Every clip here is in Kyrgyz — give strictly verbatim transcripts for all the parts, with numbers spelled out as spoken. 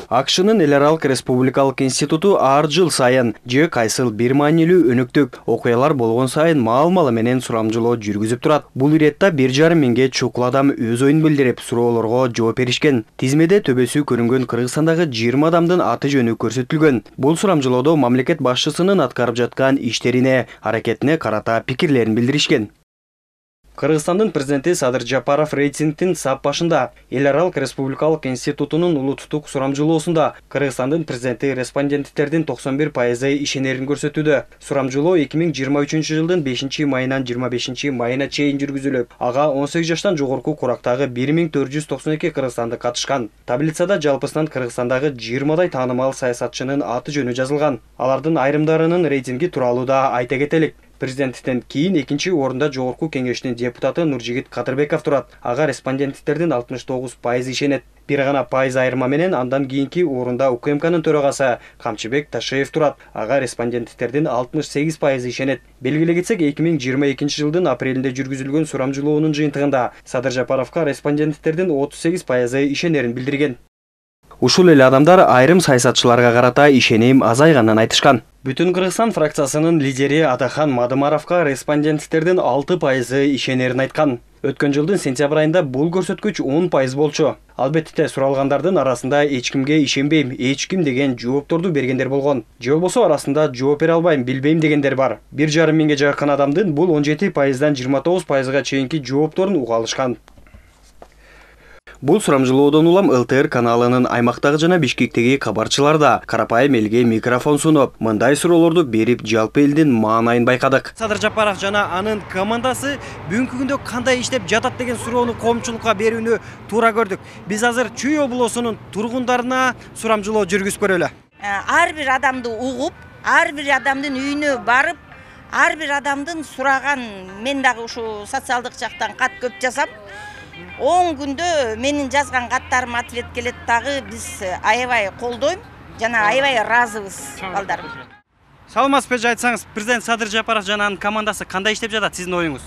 АКШнын эл аралык республикалык институту ар жыл сайын же кайсыл бир маанилүү өнөктүк окуялар болгон сайын маал-малы менен сурамжылоо жүргүзүп турат. Бул иретте бир жарым миңге чукул адам өз оюн билдирип, суроолорго жооп беришкен. Тизмеде төбөсү көрүнгөн Кыргызстандагы жыйырма адамдын аты жөнү көрсөтүлгөн. Бул сурамжылоодо мамлекет башчысынын аткарып жаткан иштерине, аракетине карата пикирлерин билдиришкен. Кыргызстандын президенти Садыр Жапаров рейтингдин сап башында. Эл аралык республикалык институтунун улуттук сурамжылоосунда Кыргызстандын президенти респонденттердин токсон бир пайызы ишенерин көрсөтүүдө. Сурамжылоо эки миң жыйырма үчүнчү жылдын бешинчи майынан жыйырма бешинчи майына чейин жүргүзүлүп, ага он сегиз жаштан жогорку курактагы бир миң төрт жүз токсон эки кыргызстандык катышкан. Таблицада жалпысынан Кыргызстандагы жыйырмадай таанымал саясатчынын аты жөнү жазылган. Алардын айрымдарынын рейтинги тууралуу да айта кетелик. Президенттен кийин экинчи орунда жогорку кеңештин депутаты Нуржигит Кадырбеков турат. Ага респонденттердин алтымыш тогуз пайызы ишенет. Бир гана пайыз айырма менен андан кийинки орунда УКМКнын төрагасы Камчыбек Ташеев турат. Ага респонденттердин алтымыш сегиз пайызы ишенет. Белгилей кетсек, эки миң жыйырма экинчи жылдын апрелинде жүргүзүлгөн сурамжылоонун жыйынтыгында Садыр Жапаровго респонденттердин отуз сегиз пайызы ишенерин билдирген. Ушул эле адамдар айрым саясатчыларга карата ишеним азайганын айтышкан. Бүтүн Кыргызстан фракциясынын лидери Атахан Мадымаровго респонденттердин алты пайызы ишенерин айткан. Өткөн жылдын сентябрь айында бул көрсөткүч он пайыз болчу. Албетте суралгандардын арасында эч кимге ишенбейм, эч ким деген жоопторду бергендер болгон. Же болбосо арасында жооп бере албайм, билбейм дегендер бар. бир жарым миңге жакын адамдын бул он жети пайыздан жыйырма тогуз пайызга чейинки жоопторун уга алышкан. Бул сурамжылоодон улам эл тэ эр каналынын аймактагы жана Бишкектеги кабарчылар да карапайым элге микрофон сунуп, мындай суроолорду берип, жалпы элдин маанайын байкадык. Садыр Жапаров жана анын командасы бүгүнкү күндө кандай иштеп жатат деген суроону коомчулукка берүүнү туура көрдүк. Биз азыр Чүй облусунун тургундарына сурамжылоо жүргүзүп көрөлү. Ар бир адамды угуп, ар бир адамдын үйүнө барып, ар бир адамдын сураган, мен дагы ушу социалдык жактан кат көп жасап, он күндө менин жазган каттарым ответ келет, дагы биз аябай колдойм жана аябай ыраазыбыз балдар. Саламатсызбы, айтсаңыз, президент Садыр Жапаров жана анын командасы кандай иштеп жатат, сиздин оюңуз?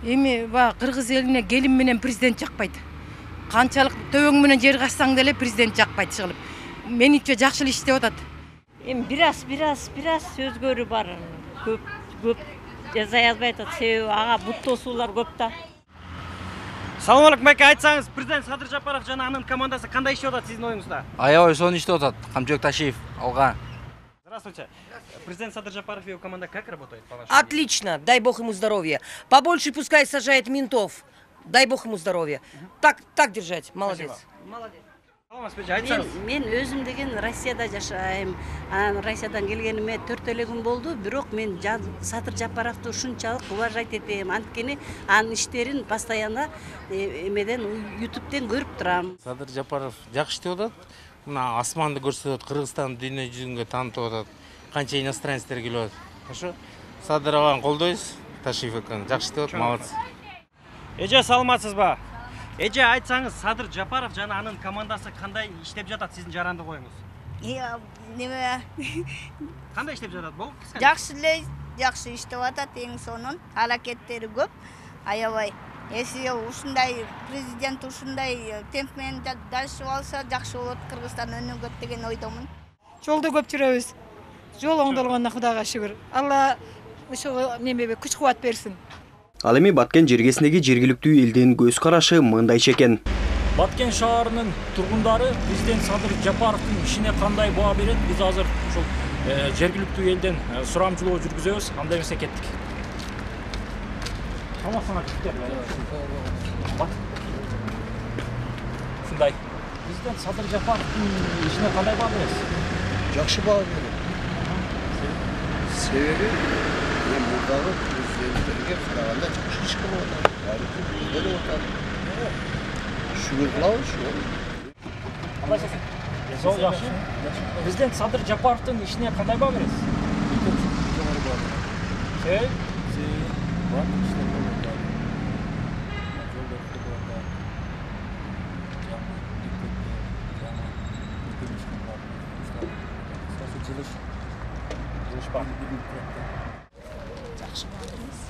Эми ба кыргыз элине келин менен президент жакпайт. Канчалык төбөң менен жер качсаң деле президент жакпайт чыгылып. Мениче жакшы эле иштеп атат. Эми бир аз, бир аз, бир аз сөзгөрү бар. Көп, көп жаза язбай атат. Себеби ага бут тосуулар көп да. Салам алейкум, байке, айтсаңыз, президент Садыр Жапаров жана анын командасы кандай иштеп атат сиздин оюңузда? Аябай сонун иштеп атат. Камчыбек Ташиев алга. Здравствуйте. Президент Садыр Жапаров и его команда как работает? Отлично, дай бог ему здоровья. Побольше пускай сажает ментов. Дай бог ему здоровья. Так, так держать. Молодец. Молодец. Мен, мен өзүм деген Россияда жашайм. Анан Россиядан келгениме төрт эле күн болду, бирок мен Садыр Жапаровду ушунчалык уважать этем. Анткени анын иштерин постоянно эмеден ютубтен көрүп турам. Садыр Жапаров жакшы иштеп атат. Мына асманды көрсөтөт, Кыргызстанды дүйнө жүзүнгө таанытып атат. Канча иностранецтер келип атат. Хорошо? Садыр аганы колдойбуз. Ташиев аканы жакшы иштеп атат, молодец. Эже, саламатсызбы? Эже, айтсаңыз, Садыр Жапаров жана анын командасы кандай иштеп жатат сиздин жарандык оюңуз? Неме? Кандай иштеп жатат бул? Жакшы эле, жакшы иштеп атат, эң сонун. Аракеттери көп, аябай. Эси ушундай президент ушундай темп менен дальше алса жакшы болот, Кыргызстан өнүгөт деген ойдомун. Жолдо көп жүрөбүз. Жол оңдолгонуна Кудайга шүгүр. Алла ошо немебе күч кубат берсин. Ал эми Баткен жергесиндеги жергиликтүү элдин көз карашы мындайча экен. Баткен шаарынын тургундары президент Садыр Жапаровдун ишине кандай баа берет? Биз азыр ушул жергиликтүү элден сурамжылоо жүргүзөбүз. Анда эмесе кеттик. Тамасына кеттер. Ушундай. Президент Садыр Жапаровдун ишине кандай баа бересиз? Жакшы баа берем. Себеби мен мурдагы президенттерге караганда жакшы иш кылып атат. Тарыхый билдирип атат. Шүгүр кылабыз ошо. Сол жакшы. Президент Садыр Жапаровдун ишине кандай баа бересиз? Жогору баа. Себеби? Бар иштер болот.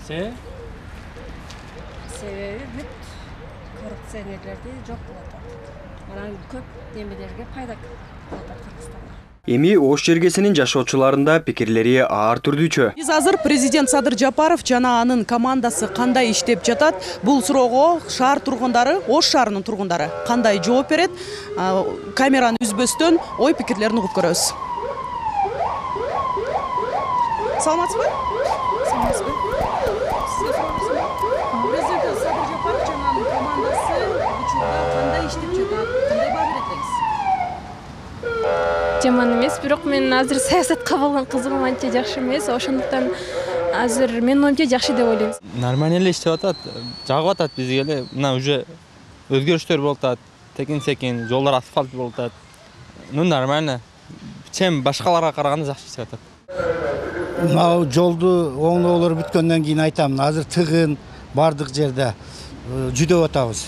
Себеби? Себеби бүт коррупционерлерди жок кылып атат. Анан көп немелерге пайда Эми Ош жергесинин жашоочуларында пикирлери ар түрдүүчө. Биз азыр президент Садыр Жапаров жана анын командасы кандай иштеп жатат? Бул суроого шаар тургундары, Ош шаарынын тургундары кандай жооп берет? Камераны үзбөстөн ой пикирлерин угуп көрөбүз. Саламатсызбы? Саламатсызбы? Президент Садыр Жапаров жана анын командасы учурда кандай иштеп жатат? Кандай баа бересиз? Жаман эмес, бирок мен азыр саясатка болгон кызыгым анча жакшы эмес. Ошондуктан азыр менин оюмча жакшы деп ойлойм. Нормально эле иштеп атат, жагып атат бизге эле. Мына уже өзгөрүштөр болуп атат. Текин-секин жолдор асфальт болуп атат. Ну нормально. Чем башкаларга караганда жакшы иштеп атат. Мына жолду оңдоолор бүткөндөн кийин айтам, азыр тыгын бардык жерде жүдөп атабыз.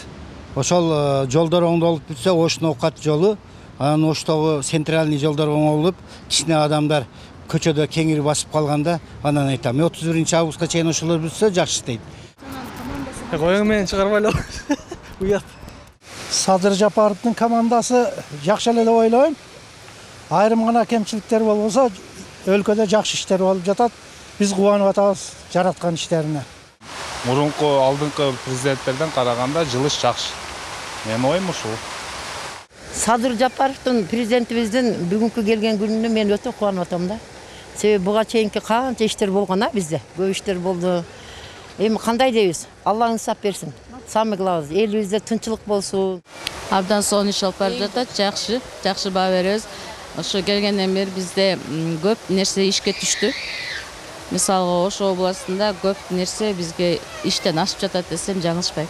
Ошол жолдор оңдолуп бүтсө, Оштун Окат жолу, анан Оштогу центральный жолдор оңолуп, кичине адамдар көчөдө кеңири басып калганда, анан айтам, отуз биринчи августка чейин ошолор бүтсө жакшы дейт. Коюң менен чыгарбай эле. Уят. Садыр Жапаровдун командасы жакшы эле деп ойлойм. Айрым гана кемчиликтер болбосо, өлкөдө жакшы иштер болуп жатат. Биз кубанып атабыз жараткан иштерине. Мурунку алдыңкы президенттерден караганда жылыш жакшы. Менин оюм ушул. Садыр Жапаровдун президентибиздин бүгүнкү келген күнүнө мен өтө кубанып атам да. Себеби буга чейинки канча иштер болгон а бизде. Көп иштер болду. Эми кандай дейбиз? Алла инсап берсин. Самый главный элибизде тынчылык болсун. Абдан сонун иш алып барып жатат, жакшы, жакшы баа беребиз. Ошо келгенден бери бизде көп нерсе ишке түштү. Мисалга Ош областында көп нерсе бизге иштен ашып жатат десем жаңылышпайм.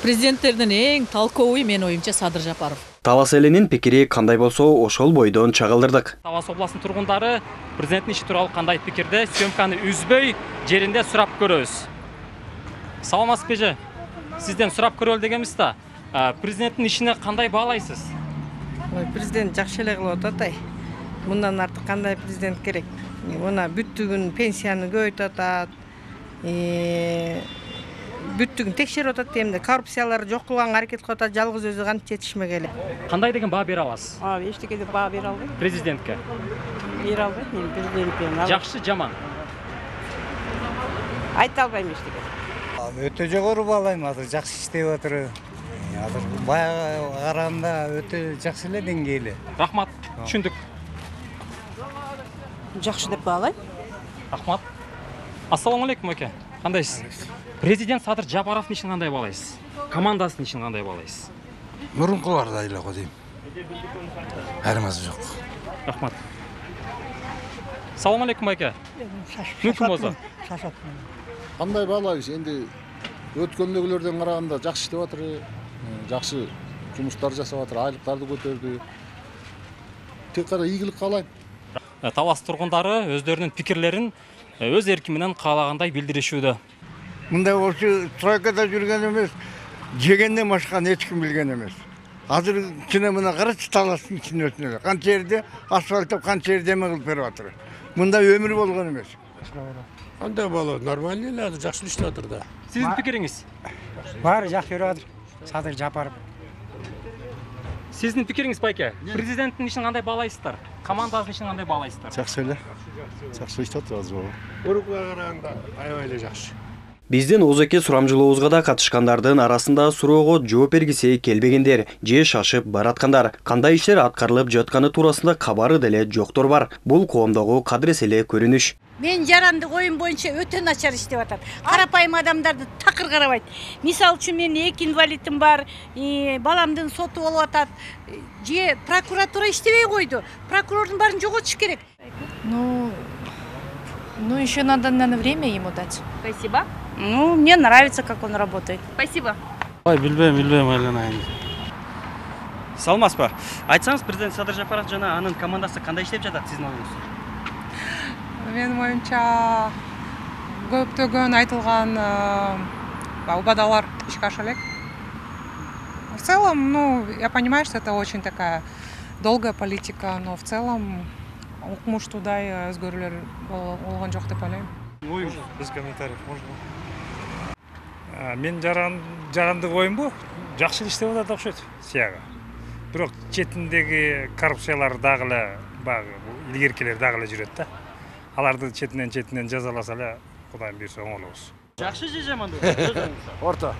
Президенттердин эң талковый менин оюмча Садыр Жапаров. Талас элинин пикири кандай болсо, ошол бойдон чагылдырдык. Талас областынын тургундары президенттин иши тууралуу кандай пикирде, съемканы үзбөй жеринде сурап көрөбүз. Саламатсызбы эже? Сизден сурап көрөлү дегенбиз да. Президенттин ишине кандай баалайсыз? Президент жакшы эле кылып атат ай. Мындан артык кандай президент керек? Мына бүттүгүн пенсияны көбөйтүп атат. Бүттүгүн текшерип атат демде. Коррупциялар жок кылганга аракет кылып атат. Жалгыз өзү кантип жетишмегеле. Кандай деген баа бере аласыз? А, эчтеке деп баа бере албайм. Президентке. Бере албайм, мен президентке. Жакшы, жаман. Айта албайм эчтеке. Өтө жогору баалайм, азыр жакшы иштеп атыр. Азыр баягы караганда өтө жакшы эле деңгээли. Рахмат, түшүндүк. Жакшы деп баалайм. Рахмат. Ассаламу алейкум аке. Кандайсыз? Президент Садыр Жапаровдун ишин кандай баалайсыз? Командасынын ишин кандай баалайсыз? Мурункулардай эле го дейм. Айырмасы жок. Рахмат. Салам алейкум аке. Мүмкүн болсо. Кандай баалайбыз? Энди өткөндөгүлөрдөн караганда жакшы иштеп атыр. Жакшы жумуштар жасап атыр, айлыктарды көтөрдү. Тек кара ийгилик каалайм. Талас тургундары өздөрүнүн пикирлерин өз эрки менен каалагандай билдиришүүдө. Мындай ошо стройкада жүргөн эмес, жегенден башканы эч ким билген эмес. Азыр кичине мына карачы таластын ичине өтүнө. Канча жерде асфальттап, канча жерде эме кылып берип атыр. Мындай өмүр болгон эмес. Кандай болот? Нормально эле, азыр жакшы иштеп атыр да. Сиздин пикириңиз? Баары жакшы берип атыр. Садыр Жапаров. Сиздин пикириңиз байке? Президенттин ишин кандай баалайсыздар? Командасынын ишин кандай баалайсыздар? Жакшы эле. Жакшы иштеп атыр азыр. Урукка караганда аябай эле жакшы. Биздин озеке сурамжылообузга да катышкандардын арасында суроого жооп бергиси келбегендер же шашып бараткандар, кандай иштер аткарылып жатканы туурасында кабары деле жоктор бар. Бул коомдогу кадырес эле көрүнүш. Мен жарандык оюм боюнча өтө начар иштеп атат. Карапайым адамдарды такыр карабайт. Мисалы үчүн мен эки инвалидим бар, баламдын соту болуп атат. Же прокуратура иштебей койду. Прокурордун баарын жоготуш керек. Ну, ну еще надо, наверное, время ему дать. Спасибо. Ну, мне нравится, как он работает. Спасибо. Ой, билбейм, билбейм, айланайын. Саламатсызбы? Айтсаңыз, президент Садыр Жапаров жана анын командасы кандай иштеп жатат сиздин оюңуз? Менин оюмча көптөгөн айтылган убадалар ишке аша элек. В целом, ну, я понимаю, что это очень такая долгая политика, но в целом укмуштуудай өзгөрүүлөр болгон жок деп ойлойм. Оюм без комментариев можно? Мен жарандык оюмбу жакшы иштеп атат окшойт сияга. Бирок четиндеги коррупциялар дагы эле баягы илгеркилер дагы эле жүрөт да. Аларды четинен четинен жазаласа эле Кудайым буйрса оңолобуз. Жакшы же жаманбы? Орто.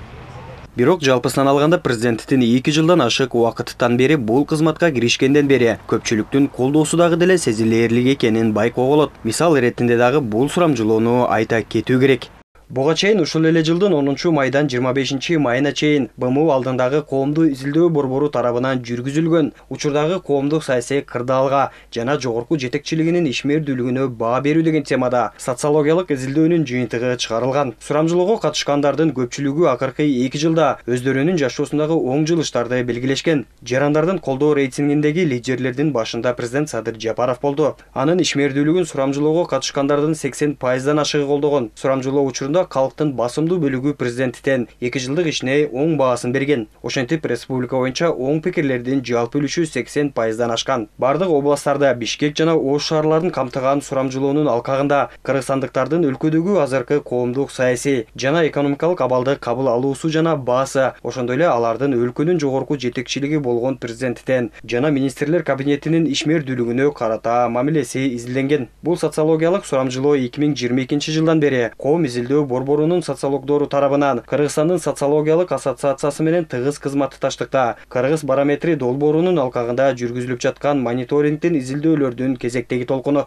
Бирок жалпысынан алганда президенттин эки жылдан ашык убакыттан бери бул кызматка киришкенден бери көпчүлүктүн колдоосу дагы деле сезилээрлик экенин байкоого болот. Мисал иретинде дагы бул сурамжылоону айта кетүү керек. Буга чейин ушул эле жылдын онунчу майдан жыйырма бешинчи майына чейин Б М У алдындагы коомдук изилдөө борбору тарабынан жүргүзүлгөн учурдагы коомдук саясий кырдаалга жана жогорку жетекчилигинин ишмердүүлүгүнө баа берүү деген темада социологиялык изилдөөнүн жыйынтыгы чыгарылган. Сурамжылоого катышкандардын көпчүлүгү акыркы эки жылда өздөрүнүн жашоосундагы оң жылыштарды белгилешкен. Жарандардын колдоо рейтингиндеги лидерлердин башында президент Садыр Жапаров болду. Анын ишмердүүлүгүн сурамжылоого катышкандардын сексен пайыздан ашыгы колдогон. Сурамжылоо учурунда калктын басымдуу бөлүгү президенттен эки жылдык ишине оң баасын берген. Ошентип республика боюнча оң пикирлердин жалпы үлүшү сексен пайыздан ашкан. Бардык областтарда Бишкек жана Ош шаарларын камтыган сурамжылоонун алкагында кыргызстандыктардын өлкөдөгү азыркы коомдук саясий жана экономикалык абалды кабыл алуусу жана баасы, ошондой эле алардын өлкөнүн жогорку жетекчилиги болгон президенттен жана министрлер кабинетинин ишмердүүлүгүнө карата мамилеси изилденген. Бул социологиялык сурамжылоо эки миң жыйырма экинчи жылдан бери коом изилдөө борборунун социологдору тарабынан Кыргызстандын социологиялык ассоциациясы менен тыгыз кызматташтыкта Кыргыз барометри долбоорунун алкагында жүргүзүлүп жаткан мониторингдин изилдөөлөрдүн кезектеги толкуну.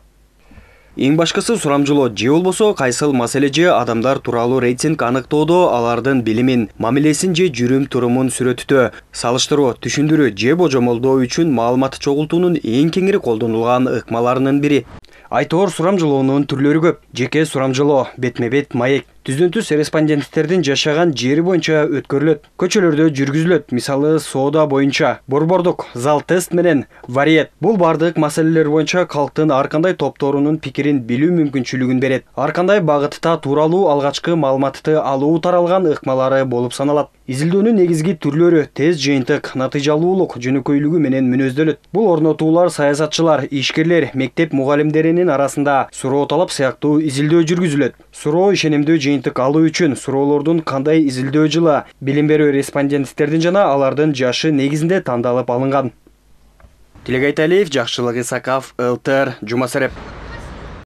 Эң башкысы сурамжылоо же болбосо кайсыл маселе же адамдар тууралуу рейтинг аныктоодо алардын билимин, мамилесин же жүрүм-турумун сүрөтүтө, салыштыруу, түшүндүрүү же божомолдоо үчүн маалымат чогултуунун эң кеңири колдонулган ыкмаларынын бири. Айтоор сурамжылоонун түрлөрү көп. Жеке сурамжылоо, бетме-бет маек, түздөн-түз респонденттердин жашаган жери боюнча өткөрүлөт. Көчөлөрдө жүргүзүлөт, мисалы соода боюнча, борбордук, зал тест менен вариет. Бул бардык маселелер боюнча калктын ар кандай топторунун пикирин билүү мүмкүнчүлүгүн берет. Ар кандай багытта тууралуу алгачкы маалыматты алуу таралган ыкмалары болуп саналат. Изилдөөнүн негизги түрлөрү тез жыйынтык, натыйжалуулук, жөнөкөйлүгү менен мүнөздөлөт. Бул орнотуулар саясатчылар, ишкерлер, мектеп мугалимдеринин арасында суроо талап сыяктуу изилдөө жүргүзүлөт. Суроо ишенимдүү жыйынтык алуу үчүн суроолордун кандай изилдөө жылы, билим берүү респонденттердин жана алардын жашы негизинде тандалып алынган. Тилек Айталиев, Жакшылык Исаков, эл тэ эр, Жума Сереп.